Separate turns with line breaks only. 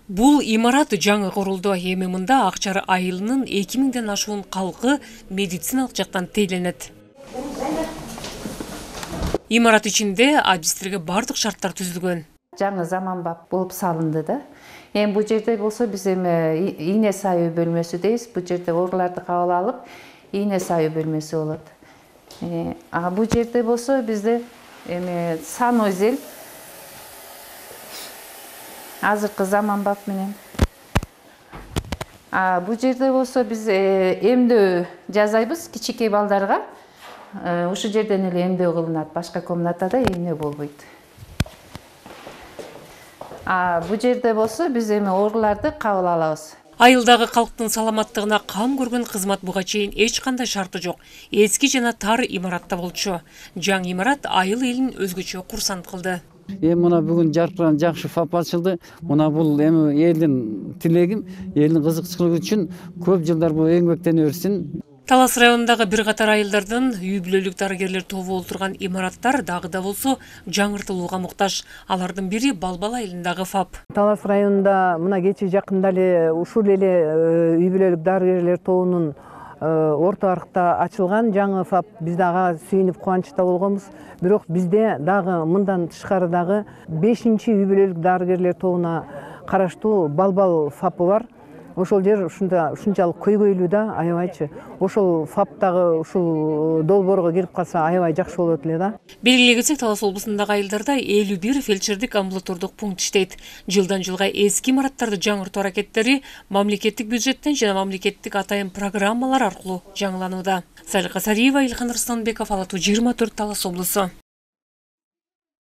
Бул имарат жаңы курулду. Эми мында Акчар айылынын 2000ден ашуун калкы медициналык жактан тейлөнөт. Имарат ичинде адистерге бардык шарттар түзүлгөн.
Жаңы заманбап болуп салынды да. Эми бул жерде болсо биз эми ийне саюу бөлмөсү дейбиз. Бул жерде ооруларды кабыл алып, ийне саюу бөлмөсү болот. Бул жерде болсо бизде эми санузел азыркы заманбап менен. Бул жерде болсо биз эмдөө жасайбыз кичинекей балдарга. Ушул жерден эле эмдөө кылынат. Башка комнатада эмне болбойт. Бул жерде болсо биз эми ооруларды кабыл алабыз.
Айылдагы калктын саламаттыгына кам көргөн кызмат буга чейин эч кандай шарты жок. Эски жана тар имаратта болчу. Жаңы имарат айыл элин өзгөчө курсант кылды.
Эми мына бүгүн жаркыран жакшы ФАП ачылды. Мына бул эми элдин тилегим, элдин кызыкчылыгы үчүн көп жылдар бул эңбектене берсин.
Талас районундагы бир катар айылдардын үй бүлөлүк дарыгерлер тобу олтурган имараттар дагы да болсо жаңыртылууга муктаж. Алардын бири Балбал айылындагы ФАП.
Талас районунда мына кечээ жакында эле ушул эле үй бүлөлүк дарыгерлер тобунун орто аркта ачылган жаңы ФАП. Биз дагы сүйүнүп кубанычта болгонбуз. Бирок бизде дагы мындан тышкары дагы 5-чи үй бүлөлүк дарыгерлер тобуна караштуу Балбал ФАПы бар. Ошол жер ушунчалык көйгөйлүү да, аябайчы. Ошол ФАПтагы ушул долбоорго кирип калса аябай жакшы болот эле да.
Белгилей кетсек, Талас облусундагы айылдарда 51 фельдшердик амбулатордук пункт иштейт. Жылдан жылга эски имараттарды жаңыртуу аракеттери мамлекеттик бюджеттен жана мамлекеттик атайын программалар аркылуу жаңыланууда. Салика Сариева, Илхан Рыстанбеков, Ала Туу 24, Талас облусу.